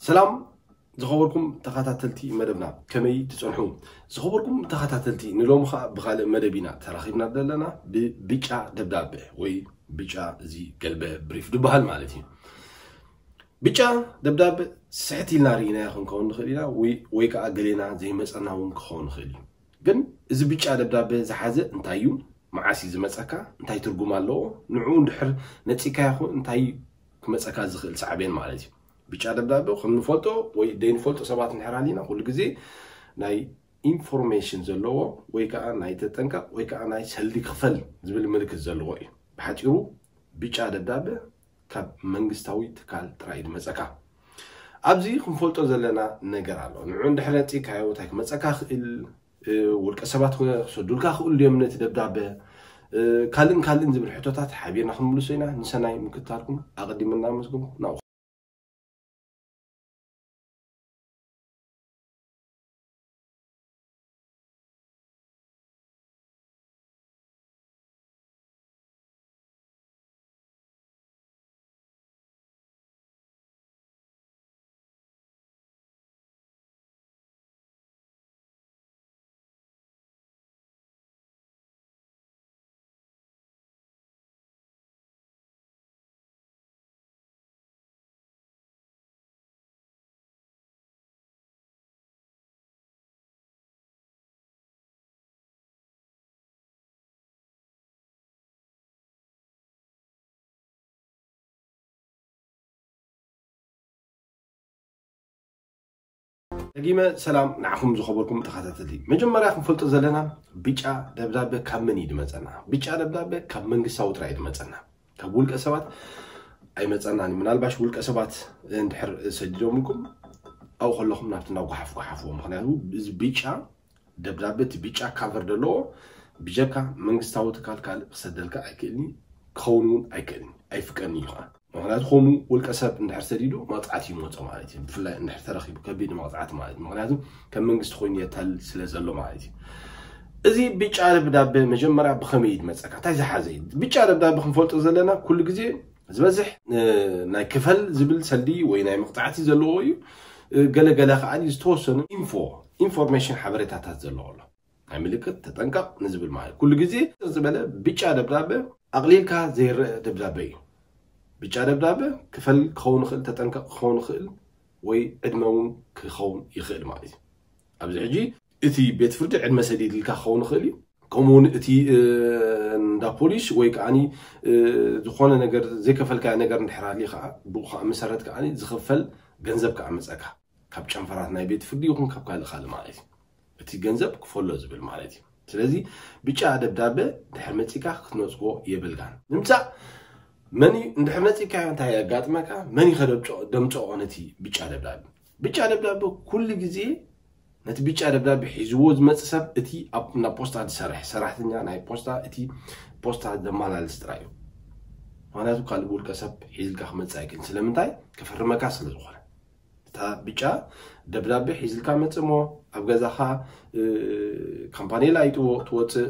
ሰላም ዝኸበርኩም ተኸታተልቲ መደብና፣ ከመይ ትጸንሑ? ዝኸበርኩም ተኸታተልቲ፣ ንሎሚ ኸኣ ብኻልእ መደብ ኢና ተራኺብና ዘለና፣ ብብጫ ደብዳበ ወይ ብጫ እዚ ገልበ ብሪፍ ዝበሃል ማለት እዩ። ብጫ ደብዳበ ስሕት ኢልና ርኢናዮ ክንከውን ንኽእል ኢና፣ ወይ፣ ወይ ከኣ ገሌና ዘይመጸና እውን ክኸውን ይኽእል እዩ። ግን እዚ ብጫ ደብዳበ ዝሓዘ እንታይ እዩ? መዓስ እዩ ዝመጸካ? እንታይ ትርጉም ኣለዎ? ንዕኡ እንድሕር ነጺካዮ ኹ እንታይ ክመጸካ ዝኽእል ሳዕቤን ማለት እዩ? ብጫ ደብዳበ ከም ንፈልጦ ወይ ደይንፈልጦ ሰባት እንድሕር ኣሊና፣ ኩሉ ግዜ ናይ ኢንፎርሜሽን ዘለዎ ወይ ከኣ ናይ ተጠንቀቕ ወይ ከኣ ናይ ሰልዲ ክፈል ዝብል ምልክት ዘለዎ እዩ። ብሓጺሩ ብጫ ደብዳበ ካብ መንግስታዊ ትካል ጥራይ እዩ ዝመጸካ። ኣብዚ ክንፈልጦ ዘለና ነገር ኣሎ። ንዑ እንድሕር ነጺካዮ እንታይ ክመጸካ ክእል፣ እ፣ ውልቀ ሰባት ክሰዱልካ ክእሉ ድዮም ነቲ ደብዳበ፣ እ፣ ካልእን ካልእን ዝብል ሕቶታት ሓቢርና ክንምልሶ ኢና። ንሰናይ ምክትታልኩም ኣቐዲመ እናመስገንኩ ናብኡ። ደጊመ ሰላም ንዓኹም ዝኸበርኩም ተኸታተልቲ። መጀመርያ ክንፈልጦ ዘለና፣ ብጫ ደብዳበ ካብ መን እዩ ዝመጸና? ብጫ ደብዳበ ካብ መንግስታዊ ጥራይ እዩ ዝመጸና፣ ካብ ውልቀ ሰባት ኣይመጸናን። ምናልባሽ ውልቀ ሰባት እንድሕር ሰዲዶምልኩም፣ ኣብኡ ከለኹም ናብቲ ናብ ጓሓፍ ጓሓፍዎ። ምኽንያቱ እዚ ብጫ ደብዳበ፣ እቲ ብጫ ካቨር ዘለዎ፣ ብጀካ መንግስታዊ ትካል ካልእ ክሰደልካ ኣይክእልን፣ ክኸውን እውን ኣይክእልን፣ ኣይፍቀድን እዩ ከዓ። ምኽንያቱ ከምኡ ውልቀ ሰብ እንድሕር ሰዲዱ መቕጻዕቲ ይመጾ ማለት እዩ። ብፍላይ እንድሕር ተረኺቡ ከቢድ መቕጻዕቲ ማለት እዩ። ምኽንያቱ ከም መንግስቲ ኮይኑ የታልል ስለ ዘሎ ማለት እዩ። እዚ ብጫ ደብዳበ መጀመርያ ብኸመይ እዩ ዝመጸካ? እንታይ ዝሓዘ እዩ? ብጫ ደብዳበ ክንፈልጦ ዘለና ኩሉ ግዜ ዝበዝሕ፣ እ፣ ናይ ክፈል ዝብል ሰልዲ ወይ ናይ መቕጻዕቲ ዘለዎ እዩ። እ፣ ገለ ገለ ከኣ ዝተወሰኑ ኢንፎ፣ ኢንፎርሜሽን ሓበሬታታት ዘለዎ ኣሎ። ናይ ምልክት ተጠንቀቕ ንዝብል ማለት ኩሉ ግዜ ዝበለ ብጫ ደብዳበ ኣቕሊልካ ዘይረአ ደብዳበ እዩ። ብጫ ደብዳበ ክፈል ክኸውን ይኽእል፣ ተጠንቀቕ ክኸውን ይኽእል፣ ወይ ዕድመ እውን ክኸውን ይኽእል ማለት እዩ። ኣብዚ ሕጂ እቲ ቤት ፍርዲ ዕድመ ሰዲድልካ ክኸውን ይኽእል እዩ። ከምኡ እውን እቲ፣ እ፣ እንዳ ፖሊስ ወይ ከዓኒ፣ እ፣ ዝኾነ ነገር ዘይከፈልካዮ ነገር እንድሕር ሃልዩ ከዓ ብኡ ከዓ መሰረት ከዓኒ ዝኽፈል ገንዘብ ከዓ መፀካ። ካብ ጨንፈራት ናይ ቤት ፍርዲ ይኹን ካብ ካልእ ካልእ ማለት እዩ። እቲ ገንዘብ ክፈሎ ዝብል ማለት እዩ። ስለዚ ብጫ ደብዳበ ድሕር መፂካ ክትነፅጎ የብልካን። ንምፃእ መን እዩ እንድሕር ነፂካዮ እንታይ የጋጥመካ? መን እዩ ከደምፅኦ ነቲ ብጫ ደብዳበ? ብጫ ደብዳበ ኩሉ ግዜ ነቲ ብጫ ደብዳበ ሒዝዎ ዝመጽእ ሰብ እቲ ኣብ ናብ ፖስታ ዝሰርሕ ሰራሕተኛ ናይ ፖስታ፣ እቲ ፖስታ ዘመላልስ ጥራይ እዩ። ምኽንያቱ ካልእ ውልቀ ሰብ ሒዝልካ ክመጽእ ኣይክእልን። ስለምንታይ? ከፈርመካ ስለ ዝኾነ። እታ ብጫ ደብዳበ ሒዝልካ መጽእ እሞ ኣብ ገዛኻ፣ እ፣ ካምፓኔላ ይጥዎ ትወጽእ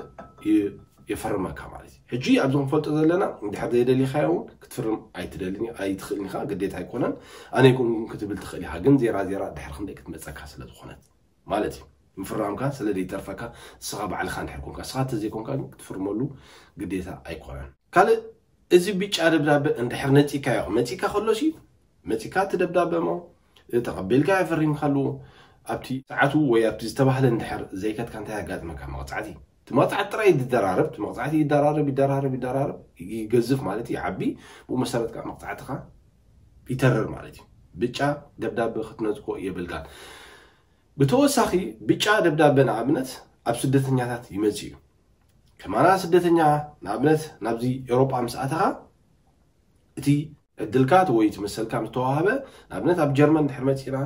ይ-፣ የፈርመካ ማለት እዩ። ሕጂ ኣብዚ ክንፈልጦ ዘለና እንድሕር ዘይደሊኻዮ እውን ክትፍርም ኣይትደልን፣ ኣይትኽእልን ኢኻ፣ ግዴታ ኣይኮነን። ኣነ ኣይኮንኩን ክትብል ትኽእል ኢኻ፣ ግን ዜራ ዜራ ድሕሪ ክንደይ ክትመጸካ ስለ ዝኾነት ማለት እዩ። ምፍራምካ ስለ ዘይተርፈካ ንስኻ ባዕልኻ እንድሕር ኮንካ፣ ንስኻ እንተዘይኮንካ ግን ክትፍርመሉ ግዴታ ኣይኮነን። ካልእ እዚ ብጫ ደብዳበ እንድሕር ነጺካዮ፣ መጺካ ከሎሲ መጺካ እቲ ደብዳበ እሞ ተቐቢልካ ፈሪምካሉ ኣብቲ ሰዓቱ ወይ ኣብቲ ዝተባህለ እንድሕር ዘይከድካ እንታይ የጋጥመካ? መቕጻዕቲ። እቲ መቕጻዕቲ ጥራይ ይደራረብ፣ እቲ መቕጻዕቲ ይደራረብ፣ ይደራረብ፣ ይደራረብ፣ ይገዝፍ ማለት እዩ፣ ይዓቢ። ብኡ መሰረት ከዓ መቕጻዕትኻ ይተርር ማለት እዩ። ብጫ ደብዳበ ክትነጽጎ የብልካን። ብተወሳኺ ብጫ ደብዳበ ንኣብነት ኣብ ስደተኛታት ይመጽእ እዩ። ከማና ስደተኛ ንኣብነት ናብዚ ኤውሮጳ ምስ ኣተኻ እቲ ዕድልካ እቲ ወይ እቲ መሰልካ ምስ ተዋህበ፣ ንኣብነት ኣብ ጀርመን እንድሕር መጺእና፣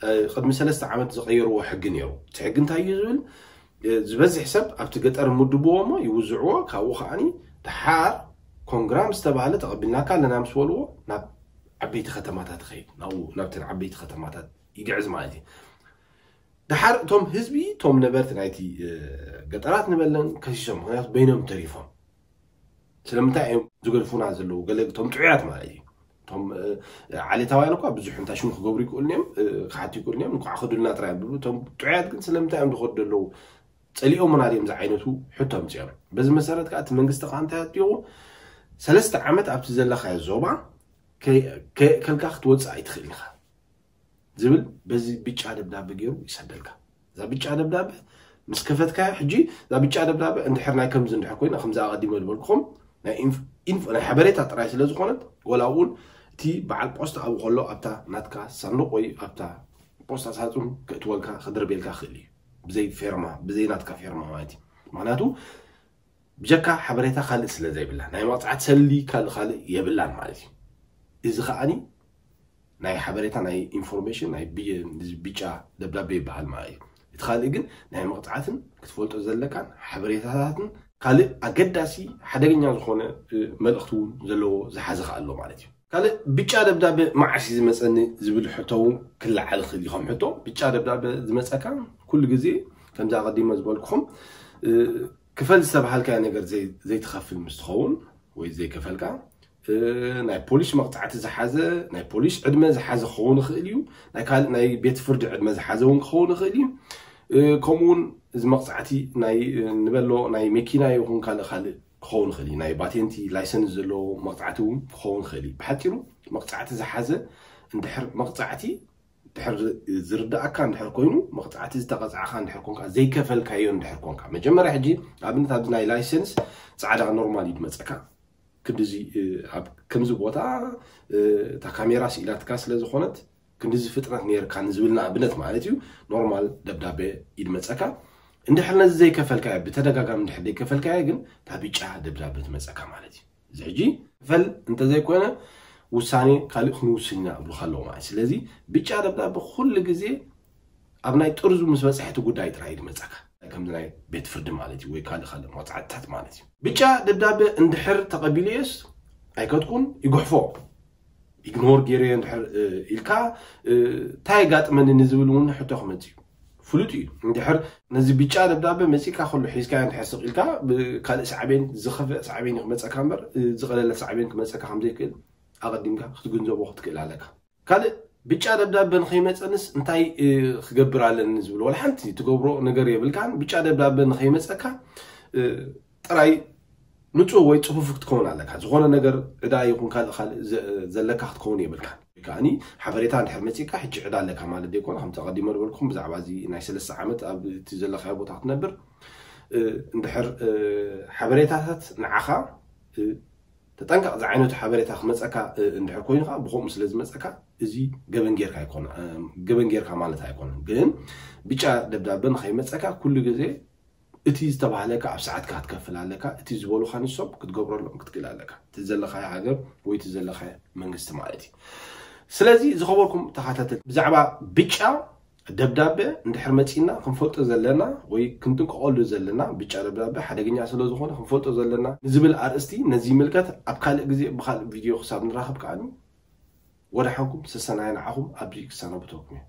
እ፣ ቅድሚ ሰለስተ ዓመት ዝቐየርዎ ሕጊ ነይሩ። እቲ ሕጊ እንታይ እዩ ዝብል? እ፣ ዝበዝሕ ሰብ ኣብቲ ገጠር ምድብዎ እሞ ይውዝዕዎ፣ ካብኡ ከዓኒ ደሓር ኮንግራ ምስ ተባህለ ተቐቢልናካ ኣለና ምስ በልዎ ናብ ዓበይቲ ከተማታት ይኸይድ፣ ናብኡ ናብተን ዓበይቲ ከተማታት ይግዕዝ ማለት እዩ። ደሓር እቶም ህዝቢ፣ እቶም ነበርቲ ናይቲ፣ እ፣ ገጠራት ንበለን ከሲሶም፣ ምኽንያቱ በይኖም ተሪፎም። ስለምንታይ እዮም ዝገድፉና ዘለዉ? ገለ እቶም ጥዑያት ማለት እዩ። እቶም ዓሌታውያን እኳ ብዙሕ እንታይ ሽሙ ክገብሩ ይክእሉ እዮም፣ ክሓቱ ይክእሉ እዮም። እንኳዕ ክዱልና ጥራይ ብሉ። እቶም ጥዑያት ግን ስለምንታይ እዮም ዝኸዱ ዘለዉ? ጸሊኦምና ድዮም ዝዓይነቱ ሕቶ ኣምፅኦም። በዚ መሰረት ከዓ እቲ መንግስቲ ከዓ እንታይ ኣጥቢቑ? ሰለስተ ዓመት ኣብቲ ዘለኻዮ ዞባ ከልካ ክትወፅእ ኣይትኽእል ኢኻ ዝብል በዚ ብጫ ደብዳበ ገይሩ ይሰደልካ። እዛ ብጫ ደብዳበ ምስ ከፈትካዮ ሕጂ፣ እዛ ብጫ ደብዳበ እንድሕር ናይ ከምዚ እንድሕር ኮይና፣ ከምዚ ኣቐዲመ ዝበልኩኹም ናይ ሓበሬታ ጥራይ ስለ ዝኾነት፣ ወላ እውን እቲ በዓል ፖስታ ኣብኡ ከሎ ኣብታ ናትካ ሳንዱቕ ወይ ኣብታ ፖስታ ሳጹን ክእትወልካ ክድርቤልካ ክእል እዩ፣ ብዘይ ፌርማ፣ ብዘይ ናትካ ፌርማ ማለት እዩ። ምክንያቱ ብጀካ ሓበሬታ ካልእ ስለ ዘይብላ፣ ናይ መቕፃዕቲ ሰሊ ካልእ ካልእ የብላን ማለት እዩ። እዚ ከዓኒ ናይ ሓበሬታ ናይ ኢንፎርሜሽን ናይ ብጫ ደብዳቤ ይበሃል ማለት እዩ። እቲ ካልእ ግን ናይ መቕፃዕትን ክትፈልጦ ዘለካን ሓበሬታታትን ካልእ ኣገዳሲ ሓደገኛ ዝኾነ መልእኽቲ እውን ዘለዎ ዝሓዘ ከ ኣሎ ማለት እዩ። ካልእ ብጫ ደብዳበ መዓስ እዩ ዝመፀኒ ዝብል ሕቶ እውን ክለዓል ይኽእል እዩ። ከም ሕቶ ብጫ ደብዳበ ዝመፀካ ኩሉ ግዜ ከምዚ ኣቐዲመ ዝበልኩኹም ክፈል ዝተባሃልካዮ ነገር ዘይትኸፍል ምስ ትኸውን ወይ ዘይከፈልካ ናይ ፖሊስ መቕፃዕቲ ዝሓዘ ናይ ፖሊስ ዕድመ ዝሓዘ ክኸውን ይኽእል እዩ። ናይ ካልእ ናይ ቤት ፍርዲ ዕድመ ዝሓዘ እውን ክኸውን ይኽእል እዩ። ከምኡ እውን እዚ መቕፃዕቲ ናይ ንበሎ ናይ መኪና ይኹን ካልእ ካልእ ክኸውን ይኽእል እዩ። ናይ ባቴንቲ ላይሰንስ ዘለዎ መቕፃዕቲ እውን ክኸውን ይኽእል እዩ። ብሓፂሩ መቕፃዕቲ ዝሓዘ እንድሕር መቕፃዕቲ ድሕር ዝርዳእካ እንድሕር ኮይኑ መቕፃዕቲ ዝተቐፃዕካ እንድሕር ኮንካ ዘይከፈልካዮ እንድሕር ኮንካ መጀመርያ ሕጂ ኣብነት ኣብዚ ናይ ላይሰንስ ፃዕዳ ኖርማል እዩ ዝመፀካ። ክንድዚ ኣብ ከምዚ ቦታ እታ ካሜራ ስኢላትካ ስለ ዝኾነት ክንድዚ ፍጥነት ነርካ ንዝብል ንኣብነት ማለት እዩ። ኖርማል ደብዳቤ ይድመፀካ። እንድሕር ነዚ ዘይከፈልካዮ ብተደጋጋሚ እንድሕር ዘይከፈልካዮ ግን እታ ብጫ ደብዳቤ ትመፀካ ማለት እዩ። እዚ ሕጂ ክፈል እንተዘይኮነ ውሳኔ ካልእ ክንውስን ኢና እብሉካ ኣለዉ ማለት። ስለዚ ብጫ ደብዳቤ ኩሉ ግዜ ኣብ ናይ ጥርዙ ምስ በፅሐ እቲ ጉዳይ ጥራይ እዩ ዝመፀካ። ከምዚ ናይ ቤት ፍርዲ ማለት እዩ ወይ ካልእ ካልእ መቕፃዕትታት ማለት እዩ። ብጫ ደብዳቤ እንድሕር ተቐቢለዮስ ኣይከድኩን ይጉሕፎ ኢግኖር ገይረዮ እንድሕር ኢልካ እንታይ የጋጥመኒ ንዝብል እውን ሕቶ ክመፅእ እዩ። ፍሉጥ እዩ። እንድሕር ነዚ ብጫ ደብዳበ መፂእካ ከሎ ሒዝካዮ እንድሕር ስቕ ኢልካ ብካልእ ሳዕቤን ዝኸፍእ ሳዕቤን እዩ ክመፀካ እምበር ዝቐለለ ሳዕቤን ክመፀካ ከምዘይክእል ኣቐዲምካ ክትግንዘቦ ክትክእል ኣለካ። ካልእ ብጫ ደብዳበ ንኸይመፀንስ እንታይ ክገብር ኣለኒ ዝብል ወላ ሓንቲ ትገብሮ ነገር የብልካን። ብጫ ደብዳበ ንኸይመፀካ ጥራይ ንፁህ ወይ ፅፉፍ ክትከውን ኣለካ። ዝኾነ ነገር ዕዳ ይኹን ካልእ ካልእ ዘለካ ክትከውን የብልካ። ወይ ከዓኒ ሓበሬታ እንድሕር መፂእካ ሕጂ ዕዳ ኣለካ ማለት ዘይኮነ ከምቲ ኣቐዲመ ዝበልኩም ብዛዕባ እዚ ናይ ሰለስተ ዓመት ኣብ እቲ ዘለካዮ ቦታ ክትነብር እንድሕር ሓበሬታታት ንዓኻ ተጠንቀቕ ዝዓይነቱ ሓበሬታ ክመፀካ እንድሕር ኮይኑ ከዓ ብከምኡ ስለ ዝመፀካ እዚ ገበን ጌርካ ኣይኮነ ገበን ጌርካ ማለት ኣይኮነን። ግን ብጫ ደብዳበ ንኸይመፀካ ኩሉ ግዜ እቲ ዝተባህለካ ኣብ ሰዓትካ ክትከፍል ኣለካ። እቲ ዝበሉካ ንሶም ክትገብረሎም ክትክእል ኣለካ። እቲ ዘለካዮ ሃገር ወይ እቲ ዘለካዮ መንግስቲ ማለት እዩ። ስለዚ ዝኸበርኩም ተኸታተል ብዛዕባ ብጫ ደብዳበ እንድሕር መፂና ክንፈልጦ ዘለና ወይ ክንጥንቀቐሉ ዘለና ብጫ ደብዳበ ሓደገኛ ስለ ዝኾነ ክንፈልጦ ዘለና ንዝብል ኣርእስቲ ነዚ ይምልከት። ኣብ ካልእ ግዜ ብካልእ ቪድዮ ክሳብ ንራኸብ ከዓኒ ወደ ሓንኩም ሰሰናይ ንዓኹም ኣብዚ ክሰናብተኩም እየ።